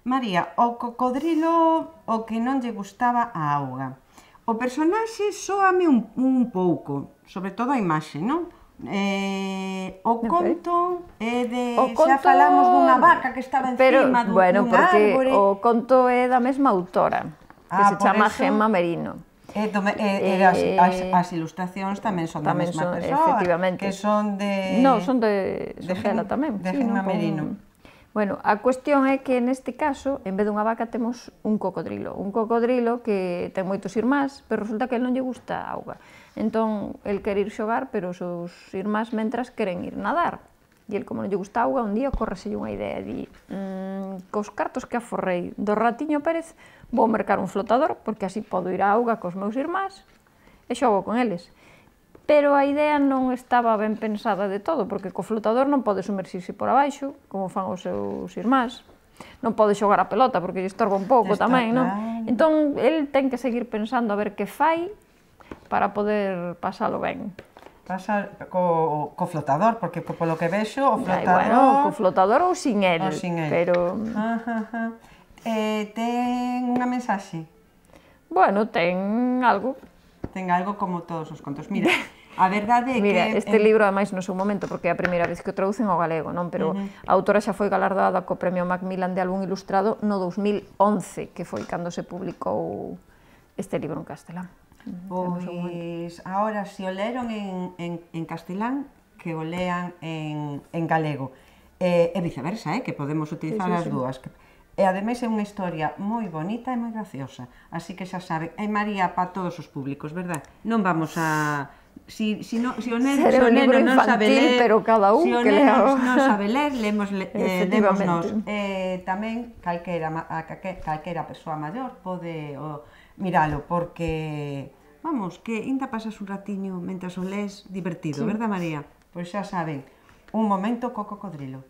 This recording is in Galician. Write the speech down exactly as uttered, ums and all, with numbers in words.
María, o cocodrilo o que non lle gustaba a auga. O personaxe soame un, un pouco, sobre todo a imaxe, non? Eh, o conto é de... O conto... xa falamos dunha vaca que estaba encima dun, bueno, dun porque árbore. o conto é da mesma autora, que Ah, se por chama eso- Gemma Merino. E, do, e, e as, as, as ilustracións tamén son da Tamén mesma son, persoa, efectivamente. que son de... No, son de, de son dela Gen- tamén. de sí, Gemma non? Con- Merino. Bueno, a cuestión é que neste caso, en vez dunha vaca, temos un cocodrilo. Un cocodrilo que ten moitos irmás, pero resulta que el non lle gusta a auga. Entón, el quere ir xogar, pero os seus irmás mentras queren ir nadar. E el, como non lle gusta a auga, un día ocorrese unha idea. Di, mmm, cos cartos que aforrei do ratiño Pérez, vou mercar un flotador, porque así podo ir á auga cos meus irmás e xogo con eles. Pero a idea non estaba ben pensada de todo, porque co flotador non pode sumerxirse por abaixo, como fan os seus irmás. Non pode xogar a pelota, porque lle estorba un pouco Está tamén, non? claro. Entón, el ten que seguir pensando a ver que fai para poder pasalo ben. Pasa co, co flotador, porque co, polo que vexo, o Ai, flotador... bueno, co flotador ou sin el, ou sin el. pero... Ajá, ajá. Eh, ten unha mensaxe? Bueno, ten algo. Ten algo como todos os contos. Mira, a verdade é Mira, que... este libro, ademais, no seu momento, porque é a primeira vez que o traducen ao galego, non? Pero a autora xa foi galardada co Premio Macmillan de Álbum Ilustrado no dous mil once, que foi cando se publicou este libro en castelán. Pois, agora, se o leron en, en, en castelán, que o lean en, en galego. E, e viceversa, eh, que podemos utilizar Sí, sí, as sí. dúas. E ademais é unha historia moi bonita e moi graciosa. Así que xa saben, é María para todos os públicos, verdad? Non vamos a... Si, si, no, si o neno, Será si o un libro neno non sabe infantil, ler, pero cada un si o que neno lea. non sabe ler, lemos, le, eh, Efectivamente. lemosnos. Eh, tamén calquera, ma- a calque- calquera persoa maior pode o, miralo, porque, vamos, que ainda pasas un ratiño mentras o lees divertido, Sí. verdad, María? Pois xa saben, un momento co cocodrilo.